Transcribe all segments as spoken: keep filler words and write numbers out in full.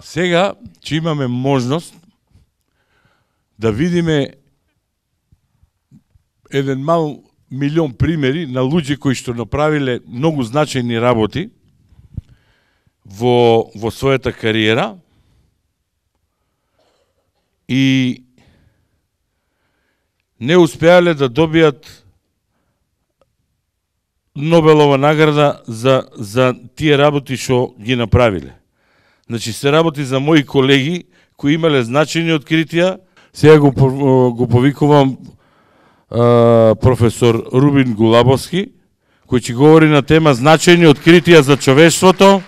Сега ќе имаме можност да видиме еден мал милион примери на луѓе кои што направиле многу значајни работи во, во својата кариера и не успеале да добијат Нобелова награда за, за тие работи што ги направиле. Значи, се работи за мои колеги кои имале значајни откритија. Сега го, го повикувам а, професор Рубин Гулабовски, кој ќе говори на тема значајни откритија за човештвото,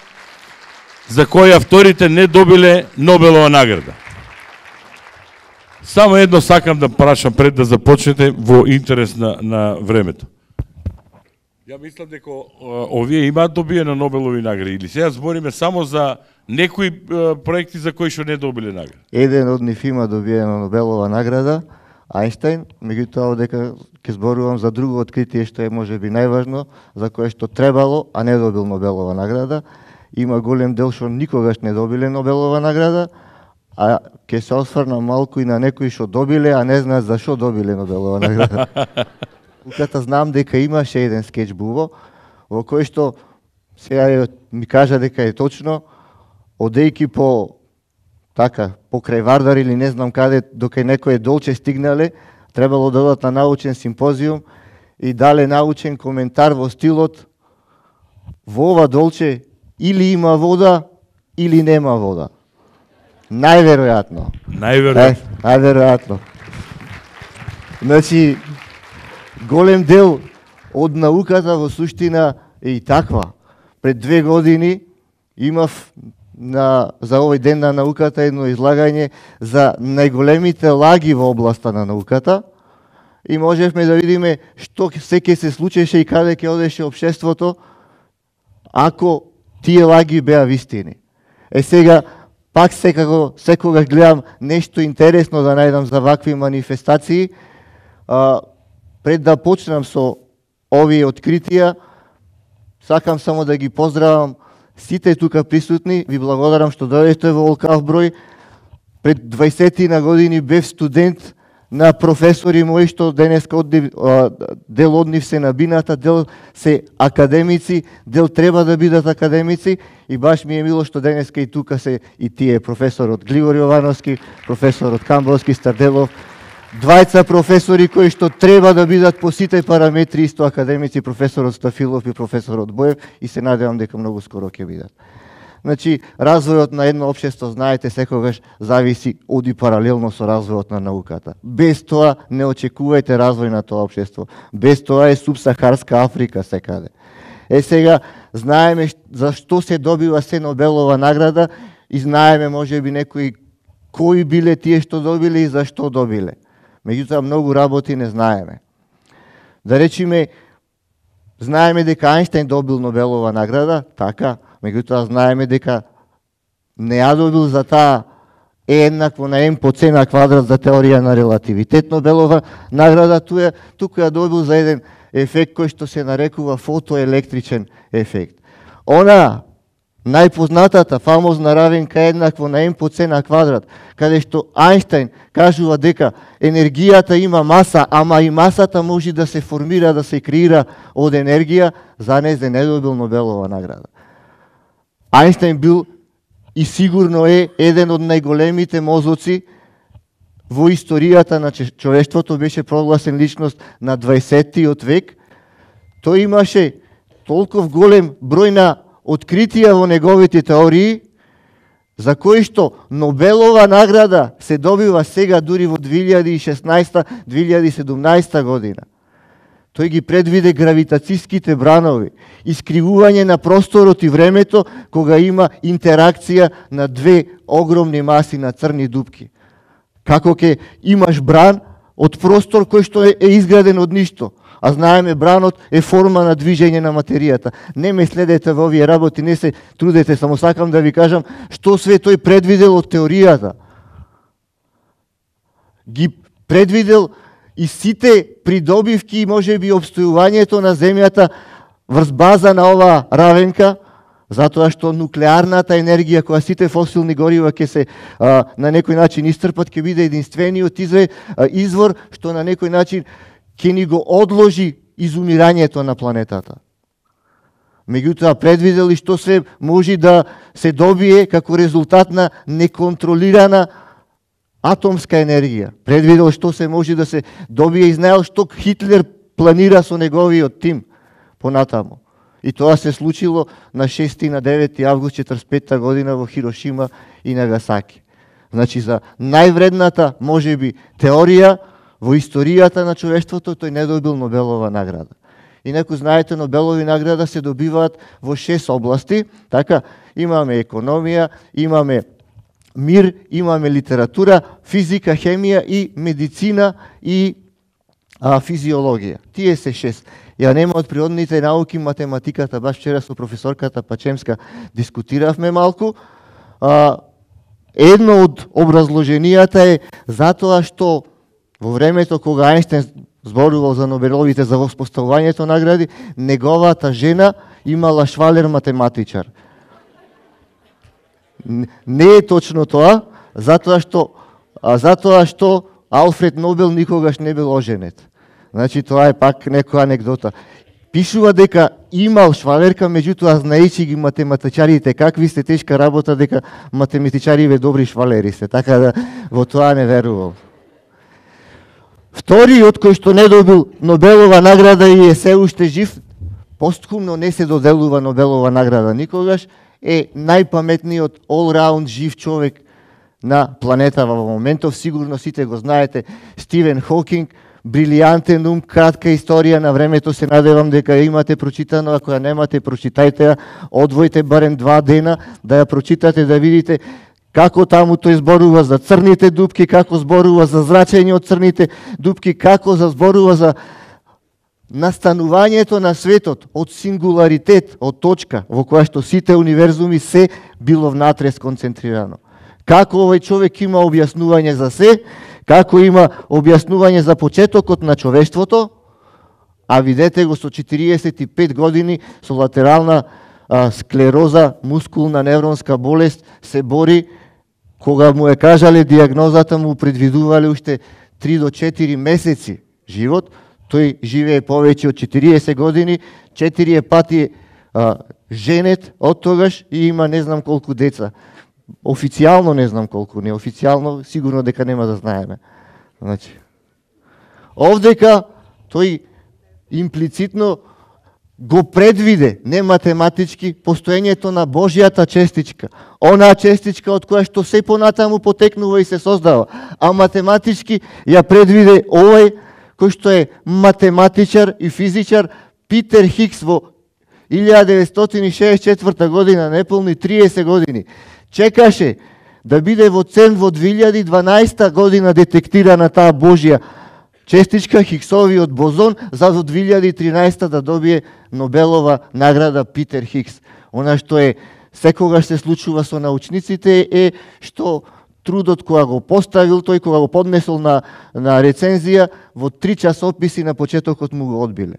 за кои авторите не добиле Нобелова награда. Само едно сакам да прашам пред да започнете во интерес на, на времето. Ја мислам дека овие имаат добиено Нобелови награди или сега збориме само за некои проекти за кои што не добиле награда? Еден од нив има добиено Нобелова награда, Ајнштајн, меѓутоа дека ќе зборувам за друго откритие што е можеби најважно, за кое што требало, а не добил Нобелова награда. Има голем дел што никогаш не добиле Нобелова награда, а ќе се осврнам малку и на некои што добиле, а не знаат зашо добиле Нобелова награда. Уката знам дека имаше еден скеч Бубо, во кој што сега ми кажа дека е точно, одејки по така, покрај Вардар или не знам каде, докај некој долче стигнале, требало да одат на научен симпозиум и дале научен коментар во стилот во ова долче или има вода, или нема вода. Најверојатно. Најверојатно. Е, најверојатно. Значи, голем дел од науката во суштина е и таква. Пред две години имав на, за овој ден на науката едно излагање за најголемите лаги во областа на науката и можевме да видиме што се ќе се случеше и каде ќе одеше општеството ако тие лаги беа вистини. Е сега, пак секако, секогаш гледам нешто интересно да најдам за вакви манифестации. А, пред да почнам со овие откритија, сакам само да ги поздравам сите тука присутни, ви благодарам што дојдете во олкав број. Пред дваесет години бев студент на професори мои што денеска одни, дел од нив се на бината, дел се академици, дел треба да бидат академици и баш ми е мило што денеска и тука се и тие професорот Гligor Јовановски, професорот Камбовски Старделов, двајца професори кои што треба да бидат по сите параметри исто академици, професорот Стафилов и професорот Боев и се надевам дека многу скоро ќе бидат. Значи, развојот на едно општество, знаете, секогаш зависи од и паралелно со развојот на науката. Без тоа не очекувајте развој на тоа општество. Без тоа е субсахарска Африка секаде. Е сега, знаеме за што се добива се Нобелова награда и знаеме можеби некои кои биле тие што добиле и за што добиле. Меѓутоа, многу работи не знаеме. Да речиме, знаеме дека Ајнштајн добил Нобелова награда, така, меѓутоа знаеме дека не ја добил за таа е еднакво на м по c на квадрат за теорија на релативитет Нобелова награда, туја, тука ја добил за еден ефект кој што се нарекува фотоелектричен ефект. Она, најпознатата, фамозна равенка еднакво на м по c на квадрат, каде што Ајнштајн кажува дека енергијата има маса, ама и масата може да се формира, да се креира од енергија, за незе не добил Нобелова награда. Ајнштајн бил и сигурно е еден од најголемите мозоци во историјата на човештвото, беше прогласен личност на дваесеттиот век. Тој имаше толков голем број на откритија во неговите теории, за кои што Нобелова награда се добива сега дури во две илјади и шеснаесета - две илјади и седумнаесета година. Тој ги предвиде гравитацијските бранови, искривување на просторот и времето кога има интеракција на две огромни маси на црни дупки. Како ќе имаш бран од простор кој што е, е изграден од ништо, а знаеме бранот е форма на движење на материјата. Не ме следете во овие работи, не се трудете, само сакам да ви кажам што све тој предвидел од теоријата. Ги предвидел и сите придобивки и можеби обстојувањето на земјата врз база на оваа равенка, Затоа што нуклеарната енергија која сите фосилни горива ќе се а, на некој начин истрпат, ќе биде единствениот извор што на некој начин ќе ни го одложи изумирањето на планетата. Меѓутоа предвидели што се може да се добие како резултат на неконтролирана атомска енергија. Предвидел што се може да се добие и знаел што Хитлер планира со неговиот тим понатаму. И тоа се случило на шести и на девети август четридесет и петта година во Хирошима и Нагасаки. Значи за највредната можеби теорија во историјата на човештвото тој не добил Нобелова награда. Инаку знаете, Нобелови награда се добиваат во шест области, така имаме економија, имаме мир, имаме литература, физика, хемија и медицина и а, физиологија. Тие се шест. Ја нема од природните науки, математиката, баш вчера со професорката Пачемска дискутиравме малку. А, едно од образложенијата е затоа што во времето кога Ајнштен зборувал за Нобеловите за воспоставувањето награди, неговата жена имала швалер математичар. Не е точно тоа, затоа што а, затоа што Алфред Нобел никогаш не бил оженет. Значи тоа е пак некоја анекдота. Пишува дека имал швалерка, меѓутоа знаејќи ги математичарите какви сте тешка работа, дека математичариве добри швалери се, така да во тоа не верувал. Вториот кој што не добил Нобелова награда и е се уште жив, постхумно не се доделува Нобелова награда никогаш, е најпаметниот all-round жив човек на планетава во моментов. Сигурно сите го знаете, Стивен Хокинг, брилијантен ум, кратка историја на времето, се надевам дека имате прочитано, ако ја немате, прочитајте ја, одвојте барем два дена да ја прочитате, да видите како таму тој зборува за црните дупки, како зборува за зрачење од црните дупки, како за зборува за настанувањето на светот од сингуларитет, од точка во која што сите универзуми се било внатре сконцентрирано. Како овој човек има објаснување за се, како има објаснување за почетокот на човештвото, а видете го со четириесет и пет години со латерална а, склероза, мускулна невронска болест, се бори. Кога му е кажале диагнозата, му предвидувале уште три до четири месеци живот, тој живее повеќе од четириесет години, четири пати а, женет од тогаш и има не знам колку деца. Официјално не знам колку, неофицијално сигурно дека нема да знаеме. Значи, овдека тој имплицитно го предвиде, не математички, постоењето на Божјата честичка. Онаа честичка од која што се понатаму потекнува и се создава. А математички ја предвиде овој кој што е математичар и физичар Питер Хикс во илјада деветстотини шеесет и четврта година, неполни триесет години. Чекаше да биде во Церн во две илјади и дванаесетта година детектирана таа Божја честичка, Хиксовиот бозон, за до две илјади и тринаесетта да добие Нобелова награда Питер Хикс. Она што е секогаш се случува со научниците е што трудот кога го поставил тој, кога го поднесол на, на рецензија, во три часописи на почетокот му го одбиле.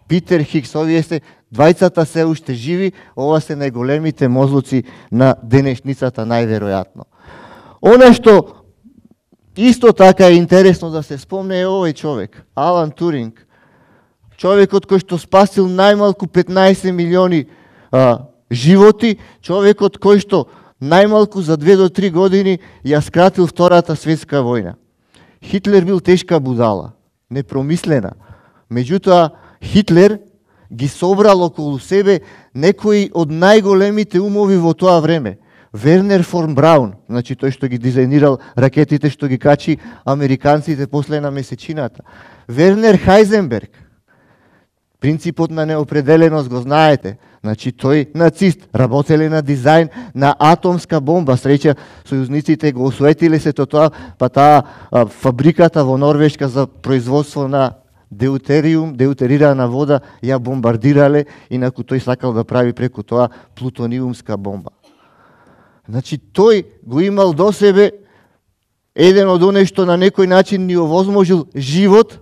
Питер Хикс, овие се, двајцата се уште живи, ова се најголемите мозлуци на денешницата најверојатно. Она што исто така е интересно да се спомне е овој човек, Алан Туринг, човекот кој што спасил најмалку петнаесет милиони а, животи, човекот кој што најмалку за две до три години ја скратил Втората светска војна. Хитлер бил тешка будала, непромислена. Меѓутоа, Хитлер ги собрал околу себе некои од најголемите умови во тоа време. Вернер фон Браун, значи тој што ги дизајнирал ракетите што ги качи американците после на месечината. Вернер Хајзенберг, принципот на неопределеност го знаете. Значи тој нацист, работеле на дизајн на атомска бомба. Среќа сојузниците го осуетиле се тоа, па таа фабриката во Норвешка за производство на деутериум, деутерирана вода, ја бомбардирале, инаку тој сакал да прави преку тоа плутониумска бомба. Значи тој го имал до себе еден од оние што на некој начин ни овозможил живот,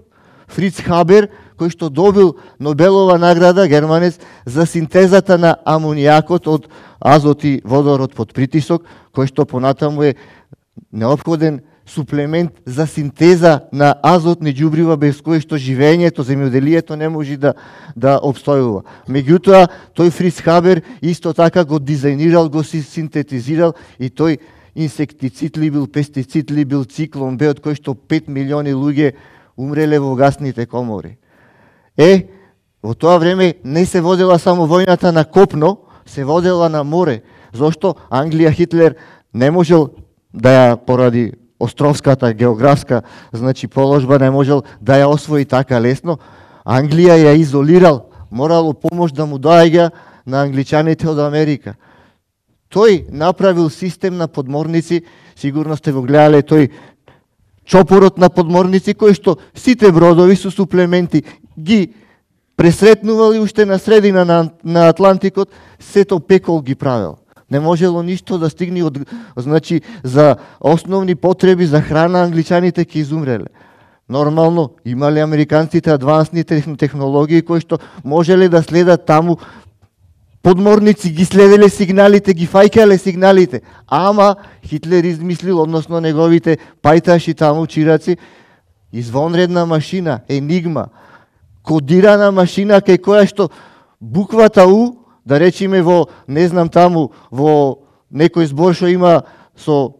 Фриц Хабер, кој што добил Нобелова награда, германец, за синтезата на амонијакот од азот и водород под притисок, кој што понатаму е неопходен суплемент за синтеза на азотни џубрива без кои што живењето, земјоделието не може да да обстојува. Меѓутоа, тој Фриц Хабер исто така го дизајнирал, го си синтетизирал и тој инсектицид ли бил, пестицид ли бил, циклон бе, од кој што пет милиони луѓе умреле во гасните комори. Е, во тоа време не се водела само војната на копно, се водела на море. Зошто Англија, Хитлер не можел да ја поради островската географска, значи положба, не можел да ја освои така лесно. Англија ја изолирал, морало помош да му доаѓа на англичаните од Америка. Тој направил систем на подморници, сигурно сте го гледале тој чопорот на подморници, кој што сите бродови со суплементи ги пресретнували уште на средина на, на Атлантикот, сето пекол ги правил. Не можело ништо да стигне од, значи, за основни потреби за храна, англичаните ќе изумреле. Нормално, имале американците адвансни технологии кои што можеле да следат таму. Подморници ги следеле сигналите, ги фајкале сигналите, ама Хитлер измислил, односно неговите пајташи таму, чираци, извонредна машина, енигма, кодирана машина кај која што буквата У, да речиме во, не знам таму, во некој збор што има со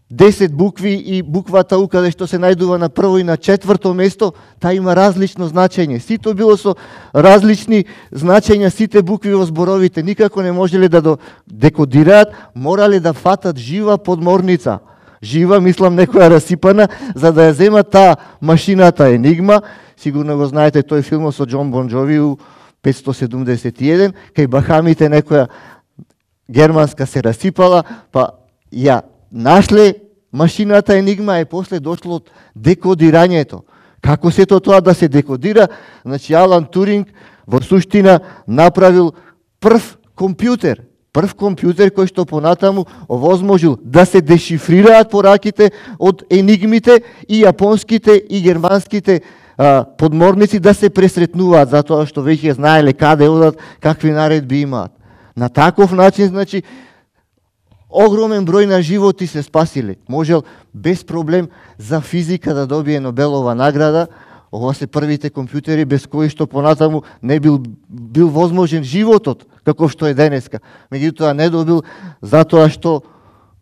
десет букви и буквата У каде што се најдува на прво и на четврто место, таа има различно значење. Сито било со различни значења, сите букви во зборовите, никако не можеле да декодираат, морале да фатат жива подморница. Жива, мислам, некоја расипана, за да ја земат таа машината Енигма. Сигурно го знаете тој филм со Џон Бон Џови у петстотини седумдесет и еден, кај Бахамите некоја германска се расипала, па ја нашле машината Енигма, и после дошло од декодирањето. Како сето тоа да се декодира? Значи Алан Туринг во суштина направил прв компјутер, прв компјутер кој што понатаму овозможил да се дешифрираат пораките од енигмите и јапонските и германските а, подморници да се пресретнуваат, затоа што веќе знаеле каде одат, какви наредби имаат. На таков начин, значи, огромен број на животи се спасиле. Можел без проблем за физика да добие Нобелова награда. Ова се првите компјутери без кои што понатаму не бил бил возможен животот како што е денеска. Меѓутоа не добил затоа што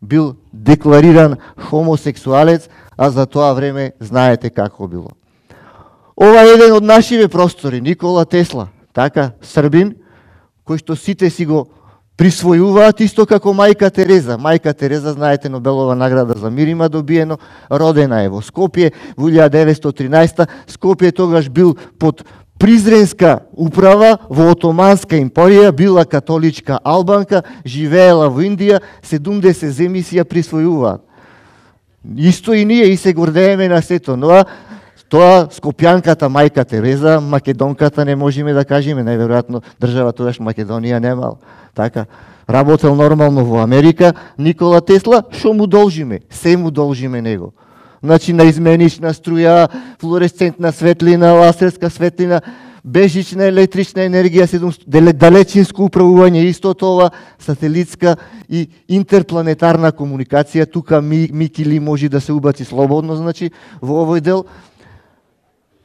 бил деклариран хомосексуалец, а за тоа време знаете како било. Ова е еден од нашиве простори, Никола Тесла, така, србин, кој што сите си го присвојуваат исто како мајка Тереза. Мајка Тереза, знаете, Нобелова награда за мир има добиено, родена е во Скопје во илјада деветстотини и тринаесета. Скопје тогаш бил под призренска управа во Отоманска империја, била католичка албанка, живеела во Индија, седумдесет земји си ја присвојуваат. Исто и ние и се гордееме на сето, но тоа скопјанката мајка Тереза, македонката не можеме да кажеме, најверојатно држава тогаш Македонија немал. Така, работел нормално во Америка, Никола Тесла, што му должиме? Се му должиме него. Значи, на изменична струја, флуоресцентна светлина, лазерска светлина, бежична електрична енергија, далечинско управување, исто тоа, сателитска и интерпланетарна комуникација. Тука Микили може да се убаци слободно, значи, во овој дел.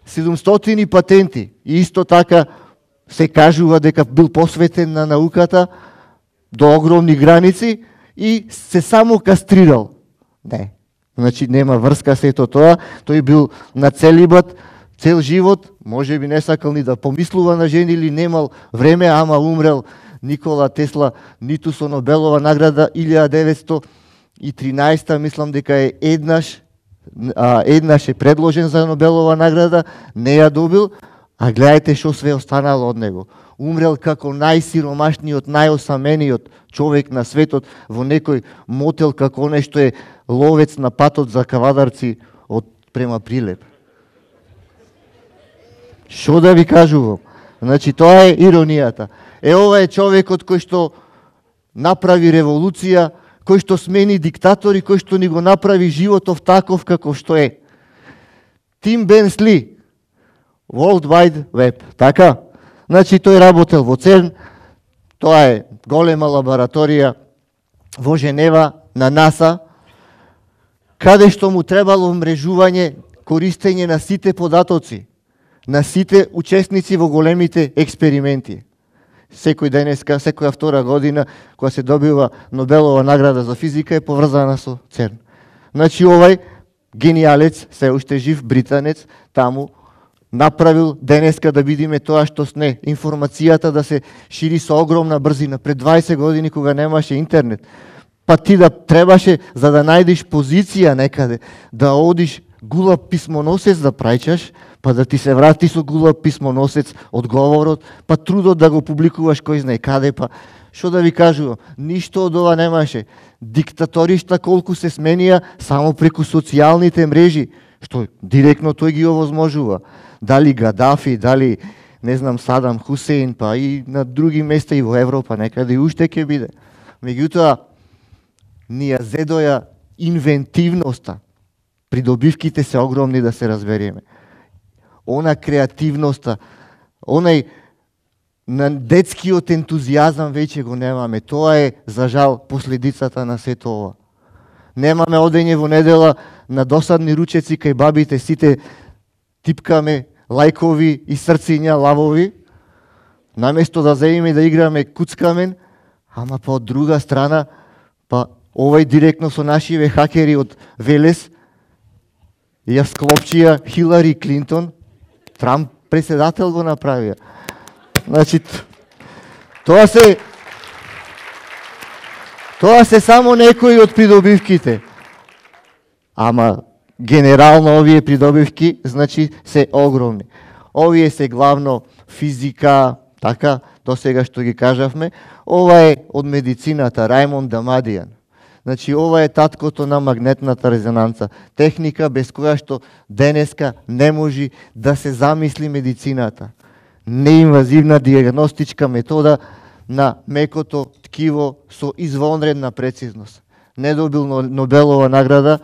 седумстотини патенти, и исто така се кажува дека бил посветен на науката до огромни граници и се само кастрирал. Не, значи нема врска сето тоа, тој бил на целибат цел живот, може би не сакал ни да помислува на жени или немал време, ама умрел Никола Тесла ниту со Нобелова награда илјада деветстотини и тринаесета, мислам дека е еднаш А, еднаш е предложен за Нобелова награда, не ја добил, а гледајте што све останало од него. Умрел како најсиромашниот, најосамениот човек на светот во некој мотел како нешто е ловец на патот за кавадарци од према Прилеп. Што да ви кажувам? Значи, тоа е иронијата. Е, ова е човекот кој што направи револуција, кој што смени диктатори, кој што ни го направи животов таков како што е. Тим Бернс-Ли, World Wide Web, така? Значи тој работел во ЦЕРН, тоа е голема лабораторија во Женева на НАСА, каде што му требало мрежување, користење на сите податоци, на сите учесници во големите експерименти. Секој денеска, секоја втора година, која се добива Нобелова награда за физика, е поврзана со ЦЕРН. Значи овај гениалец, се уште жив британец, таму направил денеска да видиме тоа што сне, информацијата да се шири со огромна брзина. Пред дваесет години кога немаше интернет, па ти да требаше за да најдеш позиција некаде, да одиш гулап писмоносец да праќаш, па да ти се врати со гулап писмоносец одговорот, па трудот да го публикуваш кој знае каде, па што да ви кажувам, ништо од ова немаше. Диктаторишта колку се сменија само преку социјалните мрежи, што директно тој ги овозможува. Дали Гадафи, дали не знам Садам Хусеин, па и на други места и во Европа некаде и уште ќе биде. Меѓутоа, ни ја зедоја инвентивноста. Придобивките се огромни, да се разбереме. Она креативноста, онај на детскиот ентузијазам веќе го немаме. Тоа е, за жал, последицата на сето ова. Немаме одење во недела на досадни ручеци кај бабите, сите типкаме лајкови и срциња, лавови, наместо да земеме да играме куцкамен, ама па од друга страна, па овај директно со нашиве хакери од Велес ја склопчија Хилари Клинтон, Трамп преседател го направија. Значи, тоа се тоа се само некои од придобивките. Ама генерално овие придобивки, значи, се огромни. Овие се главно физика, така, до сега што ги кажавме. Ова е од медицината, Рајмонд Дамадијан. Значи, ова е таткото на магнетната резонанца. Техника без која што денеска не може да се замисли медицината. Неинвазивна диагностичка метода на мекото ткиво со извонредна прецизност. Не добил Нобелова награда,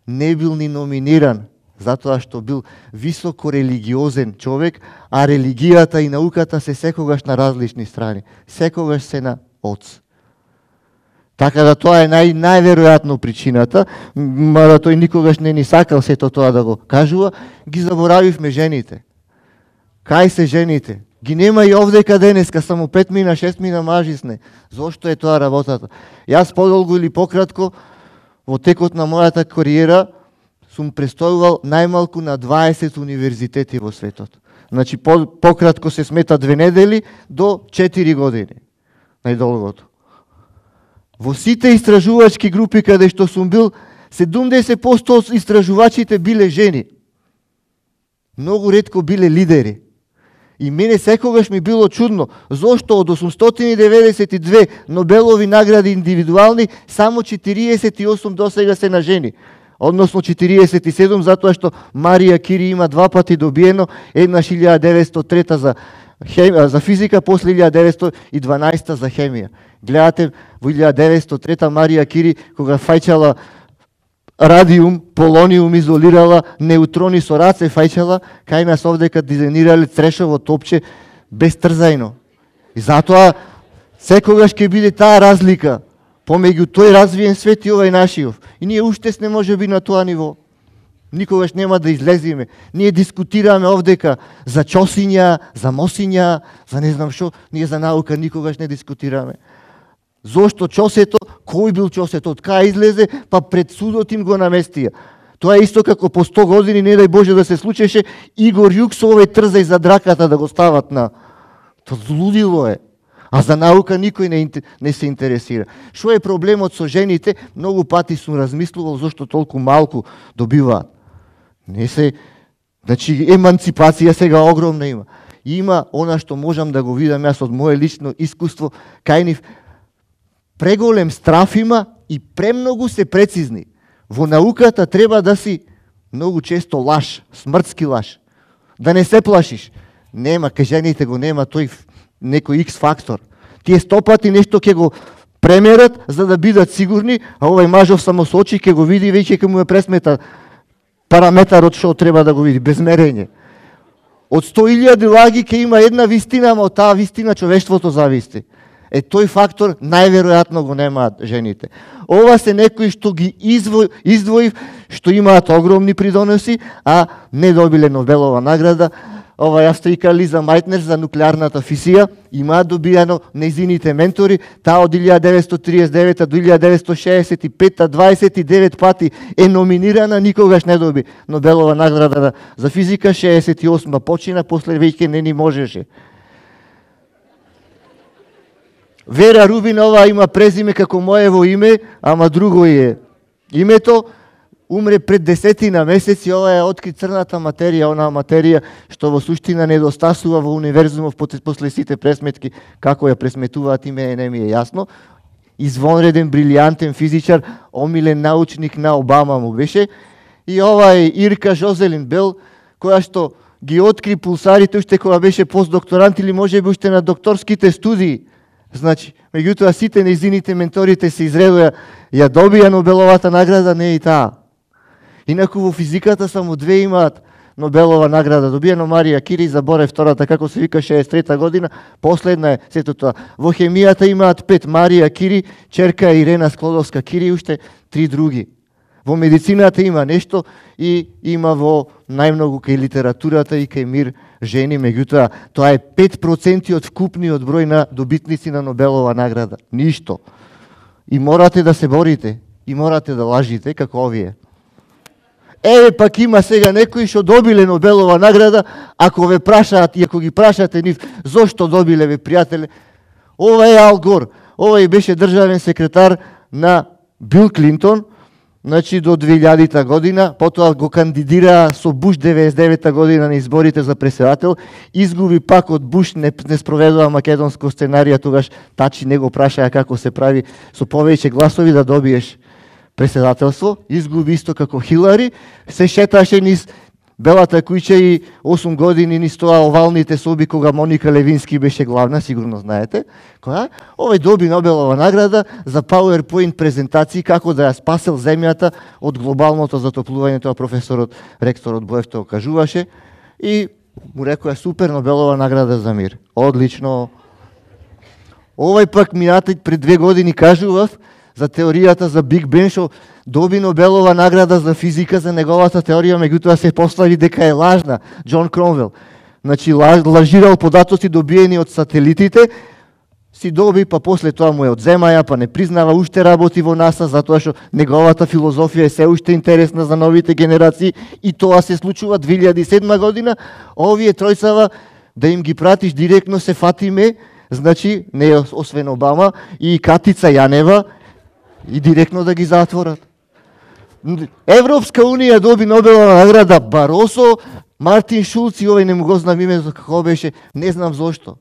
не бил ни номиниран, затоа што бил високо религиозен човек, а религијата и науката се секогаш на различни страни. Секогаш се на оц. Така да тоа е нај, најверојатно причината, мада тој никогаш не ни сакал сето тоа да го кажува, ги заборавивме жените. Кај се жените? Ги нема и овдека денеска, само пет мина, шест мина мажи сне. Зошто е тоа работата? Јас подолго или пократко, во текот на мојата кариера, сум престојувал најмалку на дваесет универзитети во светот. Значи, по, пократко се смета две недели до четири години. Најдолгото. Во сите истражувачки групи каде што сум бил, седумдесет проценти од истражувачите биле жени. Многу ретко биле лидери. И мене секогаш ми било чудно, зошто од осумстотини деветдесет и две Нобелови награди индивидуални, само четириесет и осум досега се на жени. Односно четириесет и седум, затоа што Марија Кири има два пати добиено, еднаш илјада деветстотини и трета за, хем... за физика, после илјада деветстотини и дванаесета за хемија. Гледате, во илјада деветстотини и трета Марија Кири, кога фајчала радиум, полониум изолирала, неутрони со раце фајчала, кај нас овдека дизајнирале црешово топче без трзајно. И затоа секогаш ќе биде таа разлика помеѓу тој развиен свет и овај нашиов. И ние уште сме може би на тоа ниво. Никогаш нема да излезиме. Ние дискутираме овдека за чосиња, за мосиња, за не знам што, ние за наука никогаш не дискутираме. Зошто чосето, кој бил чосето, од кај излезе, па пред судот им го наместија. Тоа е исто како по сто години, не дај Боже да се случеше, Игор Јук со овој трзај за драката да го стават на... Тоа злудило е. А за наука никој не, не се интересира. Што е проблемот со жените? Многу пати сум размислувал зошто толку малку добиваат. Не се... Значи, еманципација сега огромна има. Има она што можам да го видам јас од моје лично искуство, кај нив преголем страф има и премногу се прецизни. Во науката треба да си многу често лаш, смртски лаш. Да не се плашиш. Нема, кај жените го нема тој некој X фактор. Тие сто пати нешто ќе го премерат за да бидат сигурни, а овај мажов само со очи ќе го види, веќе ќе му ја пресмета параметарот што треба да го види, без мерење. Од сто илјади лаги ќе има една вистина, ама од таа вистина човештвото зависти. Е, тој фактор најверојатно го немаат жените. Ова се некои што ги издво, издвоив, што имаат огромни придоноси, а не добиле Нобелова награда. Ова австријка Лиза Мајтнер за нуклеарната физија имаат добијано нејзините ментори, таа од илјада деветстотини триесет и девета до илјада деветстотини шеесет и пета дваесет и девет пати е номинирана, никогаш не доби Нобелова награда за физика, шеесет и осма почина, после веќе не ни можеше. Вера Рубинова има презиме како моево име, ама друго е името. Умре пред десетина месеци, ова е откри црната материја, онаа материја што во суштина недостасува во универзумов после сите пресметки, како ја пресметуваат име не ми е јасно. Извонреден, брилијантен физичар, омилен научник на Обама му беше. И ова е Ирка Жозелин Бел, која што ги откри пулсарите уште кога беше постдокторант или можеби уште на докторските студии. Значи, меѓутоа сите нејзините менторите се изредоја, ја добија Нобеловата награда, не и таа. Инаку во физиката само две имаат Нобелова награда. Добиено Марија Кири, заборев втората, како се вика, шеесет и трета година, последна е сето тоа. Во хемијата имаат пет, Марија Кири, черка Ирена Склодовска Кири, уште три други. Во медицината има нешто и има во најмногу кај литературата и кај мир жени, меѓутоа тоа е пет проценти од вкупниот број на добитници на Нобелова награда. Ништо. И морате да се борите, и морате да лажите како овие. Еве пак има сега некои што добиле Нобелова награда, ако ве прашаат и ако ги прашате нив зошто добиле, ве пријателе, ова е Ал Гор, ова беше државен секретар на Бил Клинтон, значи до две илјадита година, потоа го кандидира со Буш деветдесет и девета година на изборите за председател, изгуби пак од Буш, не, не спроведува македонско сценарија, тогаш Тачи не го прашаја како се прави со повеќе гласови да добиеш председателство, изгуби исто како Хилари, се шеташе низ Белата куќа и осум години низ тоа овалните соби кога Моника Левински беше главна, сигурно знаете, која овој доби Нобелова награда за PowerPoint презентации како да ја спасел земјата од глобалното затоплување, тоа професорот, ректорот Боев тоа кажуваше и му рекоа супер Нобелова награда за мир. Одлично. Овој пак минатите пред две години кажував за теоријата за Биг Бен, што доби Нобелова награда за физика за неговата теорија, меѓутоа се постави дека е лажна, Џон Кромвел. Значи, лажирал податоци добиени од сателитите, си доби, па после тоа му е одземаја, па не признава, уште работи во НАСА, затоа што неговата филозофија е се уште интересна за новите генерации и тоа се случува две илјади и седма година. Овие тројцава, да им ги пратиш директно се фатиме, значи, не освен Обама, и Катица Јанева, и директно да ги затворат. Европска Унија доби Нобелова награда Баросо, Мартин Шулц и овој не му го знам името како беше, не знам зошто.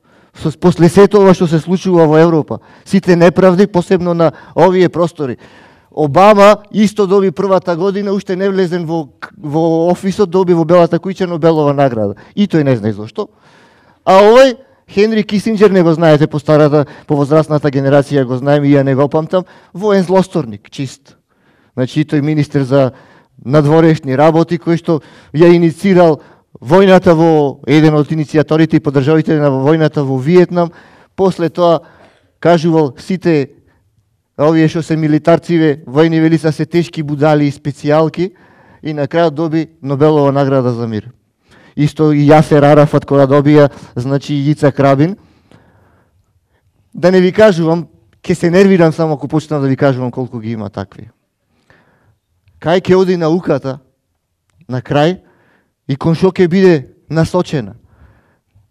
После сето ова што се случува во Европа, сите неправди, посебно на овие простори. Обама исто доби првата година, уште не влезен во, во офисот, доби во Белата куќа Нобелова награда. И тој не знае зошто. А овој Хенри Кисинџер, не го знаете, по старата, по возрастната генерација го знаем и ја не го памтам, воен злосторник, чист. Значи, тој министер за надворешни работи, кој што ја иницирал војната во, еден од иницијаторите и поддржавите на војната во Виетнам, после тоа кажувал сите овие што се милитарциве, војни велица се тешки будали и специјалки и на крајот доби Нобелова награда за мир. Исто и Јасер Арафат кога добија, значи и Ицак Рабин. Да не ви кажувам, ќе се нервирам само ако почнам да ви кажувам колку ги има такви. Кај ќе оди науката на крај и кон што ќе биде насочена?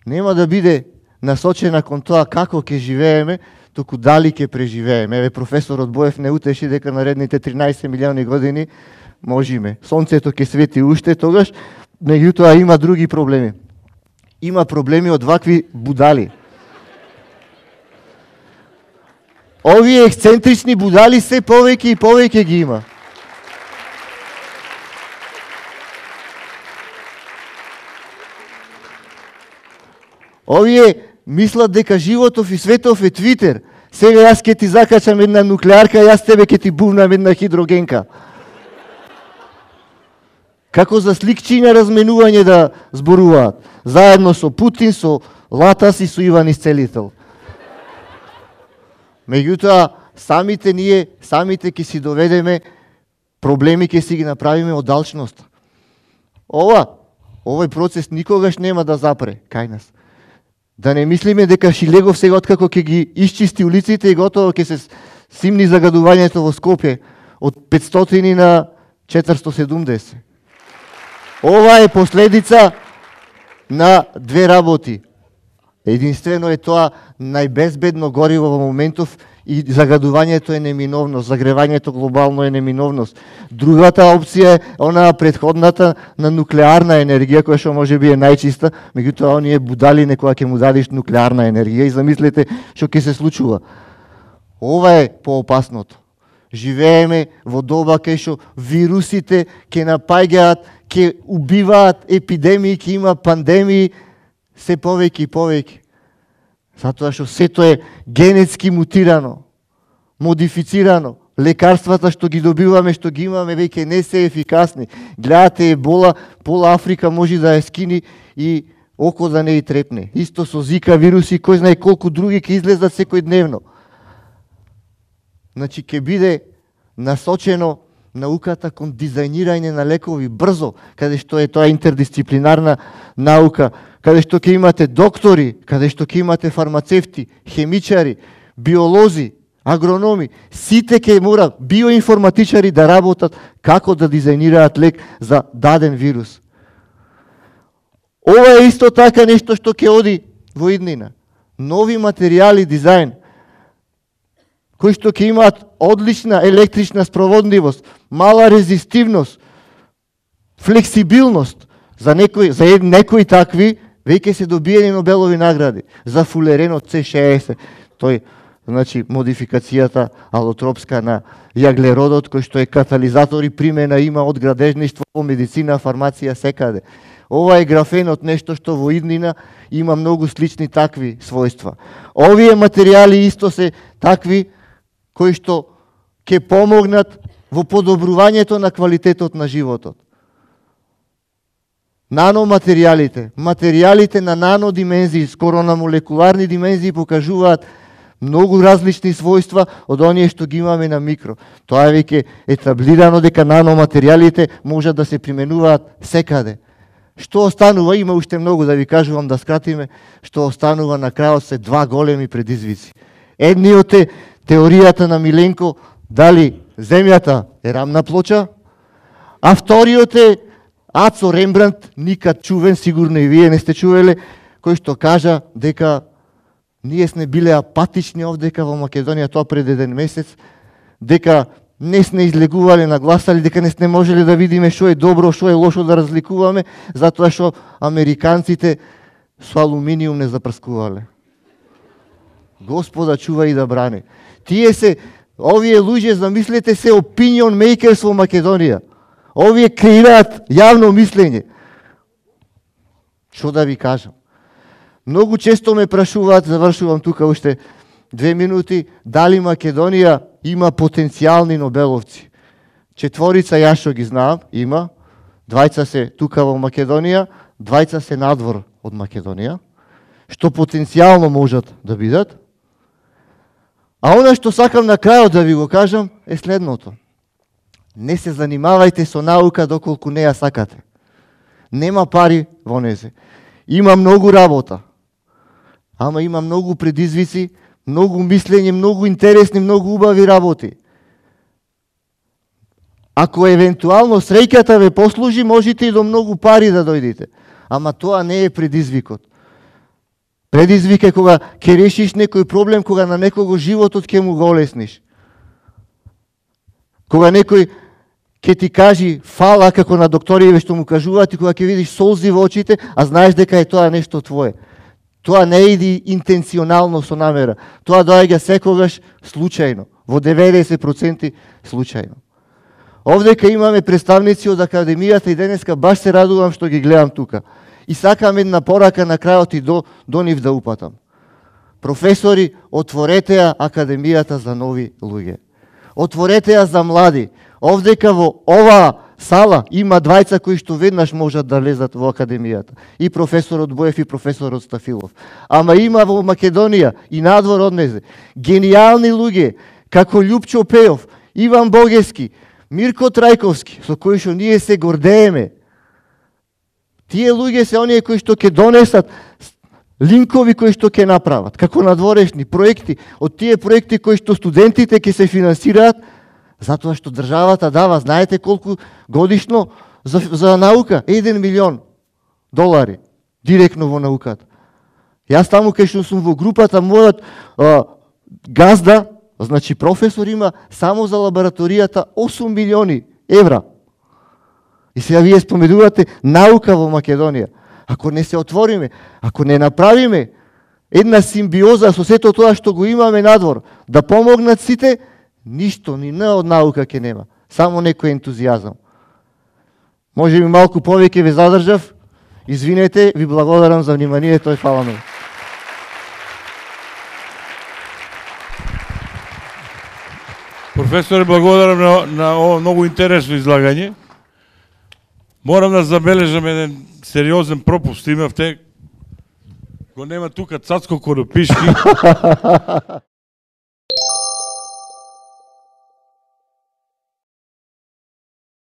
Нема да биде насочена кон тоа како ќе живееме, туку дали ќе преживееме. Еве професорот Боев не утеши дека наредните тринаесет милиони години можеме. Сонцето ќе свети уште тогаш, меѓутоа има други проблеми. Има проблеми од вакви будали. Овие ексцентрични будали се повеќе и повеќе ги има. Овие мислат дека животов и светов е Твитер. Сега јас ќе ти закачам една нуклеарка, јас тебе ќе ти бувнам една хидрогенка. како за сликчиња разменување да зборуваат, заедно со Путин, со Латас и со Иван Исцелител. Меѓутоа, самите ние, самите ќе си доведеме проблеми, ќе си ги направиме од алчност. Ова, овој процес никогаш нема да запре кај нас. Да не мислиме дека Шилегов сега откако ќе ги исчисти улиците и готово ќе се симни загадувањето во Скопје од петстотини на четиристотини и седумдесет. Ова е последица на две работи. Единствено е тоа најбезбедно гориво во моментов и загадувањето е неминовност, загревањето глобално е неминовност. Другата опција е онаа претходната на нуклеарна енергија, која што може би е најчиста, меѓутоа оние будали некоја ќе му дадиш нуклеарна енергија и замислете што ќе се случува. Ова е поопасното. Живееме во доба кај што вирусите ќе напаѓаат, ќе убиваат, епидемии, ќе има пандемии, се повеќе и повеќе. Затоа што сето е генетски мутирано, модифицирано. Лекарствата што ги добиваме, што ги имаме, веќе не се ефикасни. Гледате ебола, пола Африка може да ја скини и око да не и трепне. Исто со Зика вируси, кој знае колку други ќе излезат секојдневно. Значи, ќе биде насочено науката кон дизајнирање на лекови брзо, каде што е тоа интердисциплинарна наука, каде што ќе имате доктори, каде што ќе имате фармацевти, хемичари, биолози, агрономи, сите ќе мора биоинформатичари да работат како да дизајнираат лек за даден вирус. Ова е исто така нешто што ќе оди во иднина. Нови материјали, дизајн, кои што ќе имаат одлична електрична спроводливост, мала резистивност, флексибилност. За некои, за некои такви веќе се добиени Нобелови награди. За фулеренот С шеесет, тој, значи, модификацијата алотропска на јаглеродот, кој што е катализатор и примена има од градежништво, медицина, фармација, секаде. Ова е графенот, нешто што во иднина има многу слични такви својства. Овие материјали исто се такви кои што ќе помогнат во подобрувањето на квалитетот на животот. Наноматеријалите, материјалите на нанодимензии, скоро на молекуларни димензии покажуваат многу различни својства од оние што ги имаме на микро. Тоа е веќе етаблирано дека наноматеријалите можат да се применуваат секаде. Што останува, има уште многу да ви кажувам, да скратиме, што останува на крајот се два големи предизвици. Едниот е теоријата на Миленко, дали земјата е рамна плоча, а вториот е Ацо Рембрандт, никад чувен, сигурно и вие не сте чувеле, кој што кажа дека ние сме биле апатични овдека во Македонија, тоа пред еден месец, дека не сме излегувале на гласали, дека не сме можеле да видиме што е добро, што е лошо да разликуваме, затоа што американците со алуминиум не запрскувале. Господа чува и да бране. Тие се, овие луѓе, замислете се, opinion makers во Македонија. Овие креираат јавно мислење. Што да ви кажам? Многу често ме прашуваат, завршувам тука уште две минути, дали Македонија има потенцијални нобеловци. Четворица јас што ги знаам, има. Двајца се тука во Македонија, двајца се надвор од Македонија, што потенцијално можат да бидат. А она што сакам на крајот да ви го кажам е следното. Не се занимавајте со наука доколку не ја сакате. Нема пари во незе. Има многу работа. Ама има многу предизвици, многу мислење, многу интересни, многу убави работи. Ако евентуално среќата ве послужи, можете и до многу пари да дојдете. Ама тоа не е предизвикот. Предизвик е кога ќе решиш некој проблем, кога на некого животот ќе му го олесниш. Кога некој ќе ти кажи фала како на докториве што му кажуваат и кога ќе видиш солзи во очите, а знаеш дека е тоа нешто твое. Тоа не иди интенционално со намера. Тоа доаѓа секогаш случајно, во деветдесет проценти случајно. Овдека имаме представници од Академијата и денеска баш се радувам што ги гледам тука. И сакам една порака на крајот и до, до нив да упатам. Професори, отворете ја Академијата за нови луѓе. Отворете ја за млади. Овдека во оваа сала, има двајца кои што веднаш можат да лезат во академијата. И професорот Боев и професорот Стафилов. Ама има во Македонија и надвор од незе гениални луѓе, како Љупчо Пејов, Иван Богески, Мирко Трајковски, со кои што ние се гордееме. Тие луѓе се оние кои што ќе донесат линкови кои што ќе направат, како надворешни проекти, од тие проекти кои што студентите ќе се финансираат, затоа што државата дава, знаете колку годишно за, за наука? еден милион долари, директно во науката. Јас таму кај што сум во групата, мојот а, газда, значи професор, има само за лабораторијата осум милиони евра. И сега вие споменувате наука во Македонија. Ако не се отвориме, ако не направиме една симбиоза со сето тоа што го имаме надвор, да помогнат сите, ништо, ни на од наука ќе нема. Само некој ентузијазам. Може би малку повеќе ве задржав. Извинете, ви благодарам за вниманието и фала многу. Професоре, благодарам на, на ово многу интересно излагање. Морам да забележам еден сериозен пропуст имавте. Го нема тука Цацко Коропишки.